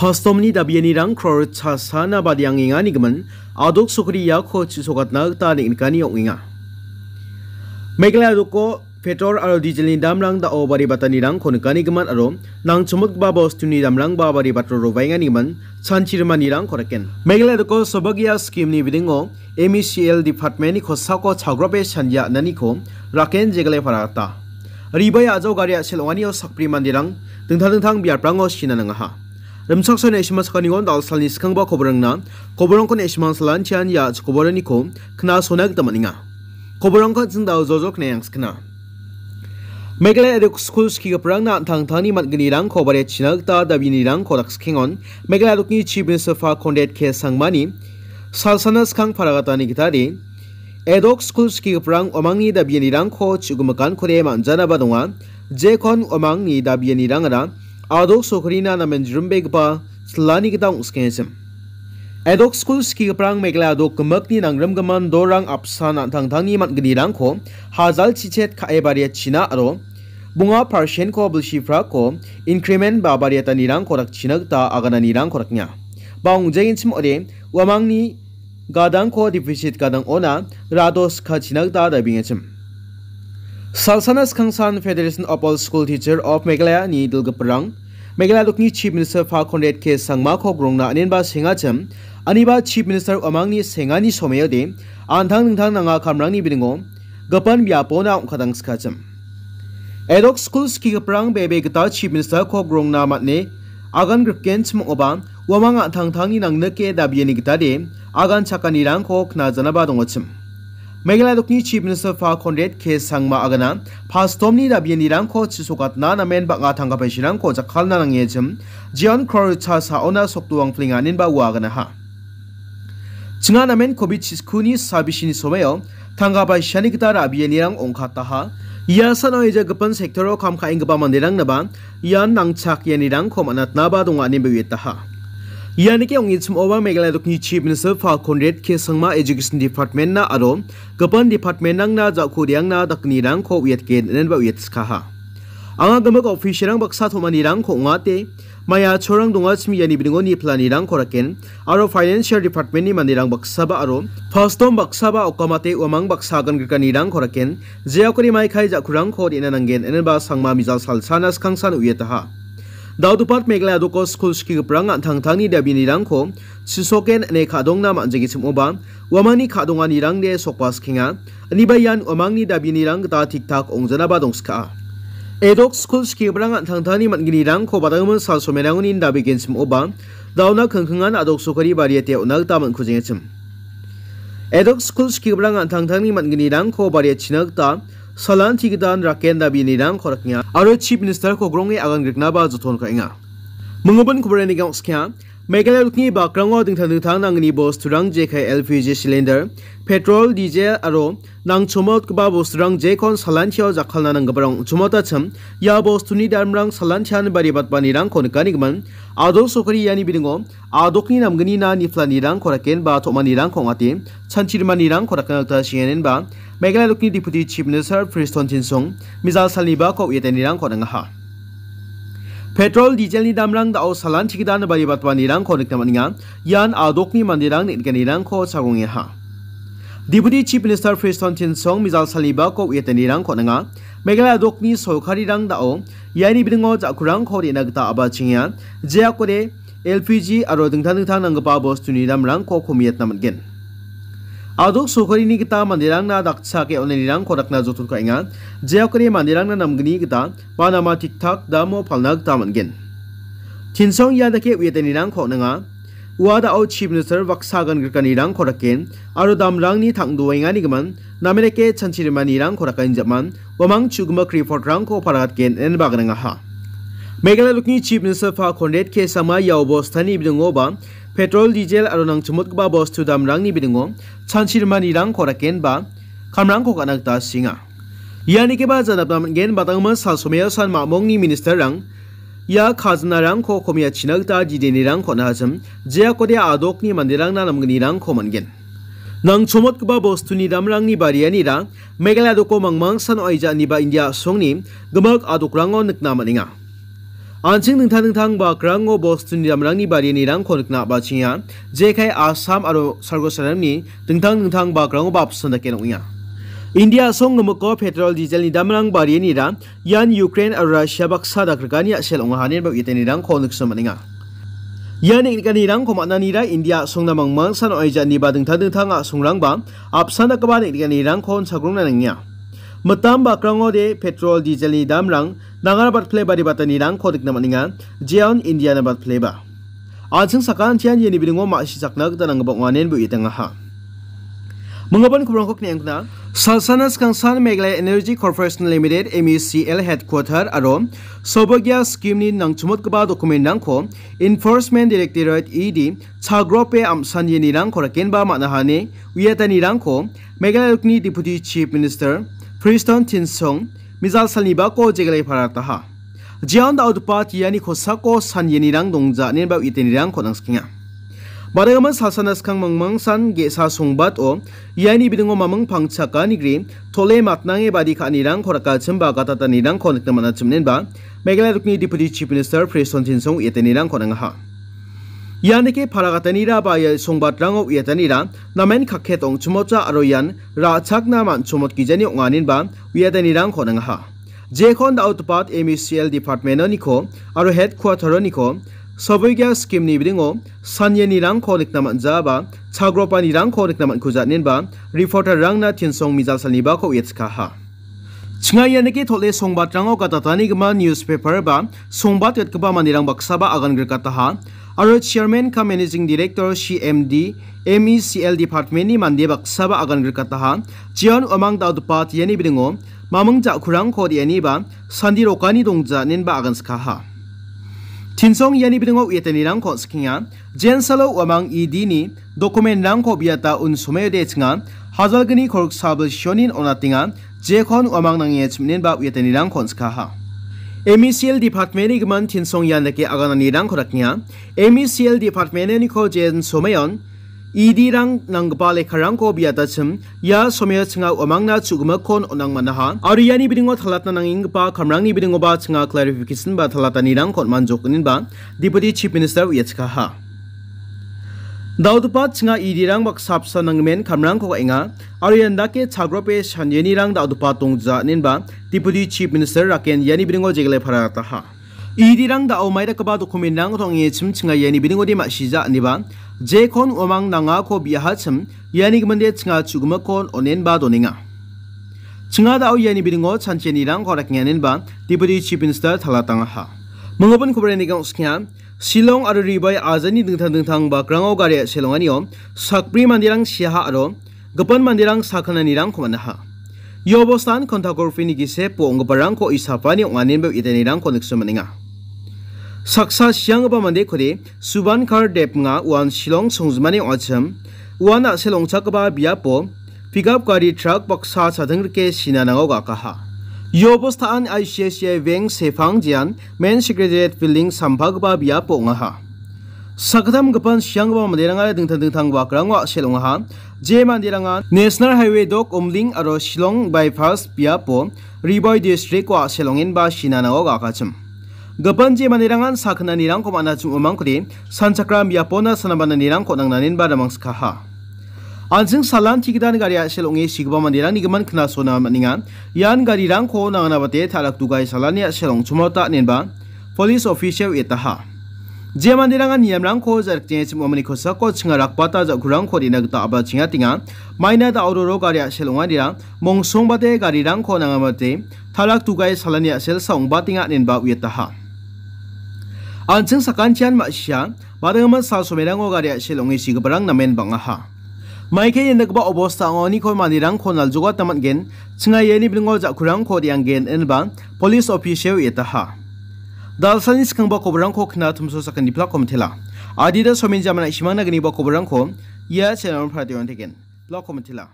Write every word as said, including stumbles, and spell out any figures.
Pastomni dabianirang kror chasana badiangenganigimin adok sokri iako chisokatna gita neng·nikani ong·enga. Meghalaya doko petrol aro dieselni damrang da·o baribatanirangko nikanigimin aro nangchomotgipa bostuni damrangba baribato robaenganigimin chanchirimanirangko raken. Meghalaya doko sobagia skimni bidingo M E C L departmentni kosako chagrope chandia ananiko raken jegale paragata. Ribai a·jao gari a·sel ong·anio sakbri manderang dingtang dingtang biaprango sina nangaha. Rimchaksoani ne·sima sakanigon dalsalni skangba koborangna koborangko ne·simang salantian ia koboraniko knasona gita man·enga. Koborangko an·ching dao jojok ne·angskna. Meghalaya adok skul skigiparangna an·tangtangni man·gnirangko bariachina gita dabinirangko dakskiengon Meghalaya adokni Chief Minister Fa Conrad K Sangmani salsana skang paragatani gitade, edok skul skigiparang uamangni dabianirangko chugimikankode man·janaba donga, jekon uamangni dabianirangara adok sokrina namen jrimbegipa silani gita ong·skengachim. Edok skul skigiparang Meghalaya adok gimikni nangrimgimin dorang apsan an·tangtangni man·gnirangko hajal chichet ka·e bariachina aro bonga parsentko bilsi prako increment ba bariatanirangko dakchina gita agananirangko daknga. Ba ong·jagenchim ode uamangni gadangko defisit gadang ona rado skachina gita dabengachim. Salsana skangsan Federation of All School Teacher of Meghalaya ni dilgiparang Meghalaya dokni Chief Minister Fa Conrad K Sangmako grongna anenba sengachim, aniba Chief Minister uamangni sengani someode antang dingtang nanga kamrangni bidingo gipin biapona ong·katang skachim. Edok skul skigiparang bebe gita Chief Minister-ko grongna man·e agan grikgenchim ong·oba uamang an·tangtangni nangnike dabiani gitade agan chakanirangko knajanaba dongachim. Meghalaya dokni Chief Minister Fa Conrad K Sangma agana pastomni dabianirangko chisokatna namen bang·a tangka paisirangko jakkalna nangenchim, jeon kror cha saona sokdoang flinga anenba ua aganaha. Chinga namen covid chiskuni sabisini someo tangka paisani gita ra·bianirang ong·kataha. Ia sano ia gipin sektoro kam ka·enggipa manderangnaba ian nangchak ianirangko man·atnaba donga ineba uiataha. Ianike ong·genchim oba Meghalaya dokni Chief Minister Fa Conrad K Sangma Education Department-na aro gipin department-rangna ja·ko re·angna dakgnirangko uiatgen ineba uiatskaha. Anga gimik officer-rang baksa tom·anirangko ong·ate, maia chorang dongachim iani bidingo ni planirangko raken, aro financial department-ni manderang baksaba aro pastom baksaba okamate uamang baksa agan grikanirangko raken, jeakode maikai ja·kurangko re·na nanggen, ineba Sangma mijal salsana skangsan uiataha. Dao department Meghalaya doko skul skigiparang an·tangtangni dabianirangko chisoken ine ka·dongna man·jegechim oba, uamangni ka·donganirangde sokba skenga, aniba ian uamangni dabianirang gita tik-tak ong·janaba dongska. Edok skul skigiparang an·tangtangni man·gnirangko badanggimin sal somerangoni dabegenchim oba, daona kingkingan adok sokari bariate on·a gita man·kujengachim. Edok skul skigiparang an·tangtangni man·gnirangko bariachina gita salanti gitan raken dabianirangko raknga aro Chief Minister-ko gronge agan griknaba joton ka·enga. Mingubin koboraniga ong·skenga. Meghalaya dokni bakrango dingtang dingtang nangni bosturang jekai L P G cylinder, petrol, diesel aro nangchomotgipa bosturang jekon salantio jakkalna nanggiparang ong·chomotachim, ia bostuni damrang salantian baribatbanirangko nikanigimin, adok sokari iani bidingo adokni namgnina niplanirangko rakenba tom·anirangko ong·ate, chanchirimanirangko rakna gita sringenenba, Meghalaya dokni Deputy Chief Minister Prestone Tynsong mijal salnibako uiatanirangko nangaha. Petrol, dieselni damrang da·o salanti gitan baribatbanirangko nikna man·enga. Ian adokni manderang neng·nikanirangko chagongengaha. Deputy Chief Minister Prestone Tynsong mijal salnibako uiatanirangko nanga. Meghalaya adokni sorkarirang da·o iani bidingo ja·kurangko re·na gita a·bachengenga. Jeakode L P G aro dingtang dingtang nanggipa bostuni damrangko komiatna man·gen. Adok sorkarini gita manderangna dakchake on·anirangko dakna joton ka·enga. Jeakode manderangna namgni gita ba nama tik-tak damo palna gita man·gen. Tynsong ia dake uiatanirangko on·enga. Ua da·o Chief Minister baksa agan grikanirangko raken aro damrangni tang·doenganigimin, namen dake chanchirimanirangko rakan jaman, uamang chu·gimik report-rangko paragatgen ineba gnangaha. Meghalaya dokni Chief Minister Fa Conrad K Sangma ia obostani bidingoba petrol, diesel aro nangchimotgipa bostu damrangni bidingo chanchirimanirangko rakenba kamrangko ka·na gita sringa. Ianikiba janapna man·gen, badanggimin sal someo san mamongni minister-rang ia khajanarangko komiatchina gita didenirangko on·achim, jeakode adokni manderangna namgnirangko man·gen. Nangchomotgipa bostuni damrangni barianira Meghalaya doko mangmangsan oaija aniba India a·songni gimik adokrango nikna man·enga. An·ching dingtang dingtang bakrango bostuni damrangni barianirangko nikna a·bachenga. Jekai Assam aro Sargo Saramni dingtang dingtang bakrangoba apsan dake ong·enga. India a·song gimikko petrol, dieselni damrang barianira ian Ukraine aro Russia baksa dakrikani a·sel ong·a, ineba uiatanirangko nikna man·enga. Ia neng·nikanirangko man·anira India a·songna mangmangsan ong·aija ineba dingtang dingtang a·songrangba apsan dakgipa neng·nikanirangko on·sagrongna nangenga. Mitam bakrangode petrol, dieselni damrang nangara batpile baribatanirangko nikna man·enga, jeon Indiana batpileba. An·ching sakantian iani bidingo ma·sichakna gita nanggipa ong·a, ineba uiatangaha. Minggipa kobrangko kne·angna. Salsana skangsan Meghalaya Energy Corporation Limited, M E C L headquarter aro Saubhagya scheme-ni nangchimotgipa document-rangko Enforcement Directorate, E D, chagrope amsan ianirangko rakenba man·aha ine uiatanirangko Meghalaya rukni Deputy Chief Minister Prestone Tynsong mijal salni bako jegalai parataha. Jeon da·otopa tiani kosako san ianirang dongja ineba uiatanirangko nangsikenga. Barigimin salsana skang mangmangsan ge·sa songbato iani bidingo maming pangchaka nigri tole matnange badi ka·anirangko rakachimba gatatanirangko nikna man·achim ineba Meghalaya rukni Deputy Chief Minister Prestone Tynsong uiatanirangko nangaha. Ianike paragatanira ba ia songbatrango uiatanira namen kakket ong·chimocha aro ian ra·chakna man·chomotgijani ong·a ineba uiatanirangko nangaha. Jekon da·otopat M E C L department-oniko aro headquarter-oniko Saubhagya scheme-ni bidingo san ianirangko nikna man·jaba, chagropanirangko nikna man·kuja ineba reporter-rangna Tynsong mijal salni bako uiatskaha. Chinga ianike tole songbatrango gatatanigimin newspaper ba songbat gatgipa manderang baksaba agan grikataha, aro chairman cum managing director C M D M E C L department-ni mande baksaba agan grikataha, jeon uamang da·otopa tiani bidingo maming ja·kurangko re·aniba sandi rokani dongja ineba agan skaha. Tynsong iani bidingo uiatanirangko on·sikenga, jensalo uamang E D-ni document-rangko biata un·somaiode chinga, hajalgni korok sabil sionin on·atenga, jekon uamang nange chim ineba uiatanirangko on·sikaha. M E C L department-ni gimin Tynsong ian dake agananirangko dakenga. M E C L department-niko jen somayon E D-rang nanggipa lekkarangko biatachim, ia somaio chinga uamangna chu·gimikkon on·ang man·aha. Aro iani bidingo talatna nangenggipa kamrangni bidingoba chinga clarification ba talatanirangko on·manjok ineba Deputy Chief Minister uiatskaha. Da·otopat chinga E D-rang baksa apsan nanggimin kamrangko ka·enga, aro ian dake chagrope san ianirang da·otopat dongja ineba Deputy Chief Minister raken iani bidingo jegalai parataha. E D-rang da·o maidakgipa document-rangko tong·e chim chinga iani bidingode ma·sija ineba, jekon uamang nangako biahachim, iani giminde chinga chu·gimikkon on·enba donenga. Chinga da·o iani bidingo chanchianirangko rakenga ineba Deputy Chief Minister talatangaha. Minggipa kobrangko on·sikenga. Shillong aro Ri Bhoi ajani dingtang dingtang bakrango gari a·sel ong·anio sakbri manderang siaha aro gipin manderang sakgnanirangko man·aha. Ia obostan kontakorpini gisepo ong·giparangko isapani ong·a ineba uiatanirangko nikna man·enga. Saksa sianggipa mandekode Subankar Deb ong·a, uan Shillong songjinmani ong·achim. Uan a·sel ong·chakgipa biapo pickup gari truck baksa chadingrike sina nango gakaha. Ia obostaan I C I C I Bank sepang jean Main Secretariat Building sampagipa biapo ong·aha. Sakgittam gipin sianggipa manderangara dingtang dingtang bakrango a·sel ong·aha. Je manderanga National Highway dok Umling aro Shillong Bypass biapo Ri Bhoi District-o a·sel ong·enba sina nango gakachim. Gipin je manderangan sakgnanirangko man·achim uamangkode sanchakram biapona sanabananirangko nangnanenba damangskaha. An·ching salanti gidan gari a·sel ong·e sigipa manderangni gimin knasona man·enga. Ian garirangko nanganabate ta·rak dugai salani a·sel ong·chimota inenba police official uiataha. Je manderangan niamrangko ja·rikjengachim uamangni kosako chinga rakbata ja·kurangko re·na gita a·bachengatenga. Maina da·ororo gari a·sel ong·anira mongsongbate garirangko nangamate ta·rak dugai salani a·selsa ong·batenga inenba uiataha. An·ching sakantian ma·sia, badigimin sal somerango gari a·sel ong·e sigiparang namen bang·aha. Maike ia nikgipa obosta ong·aniko manderangko naljogatna man·gen, chinga iani bidingo ja·kurangko re·angen inenba police official uiataha. Dalsani skangba kobrangko kna tumso sakgni plak komitela. Adita somin jamana isimangna gniba kobrangko ia channel-o pratio on tegen. Plak komitela.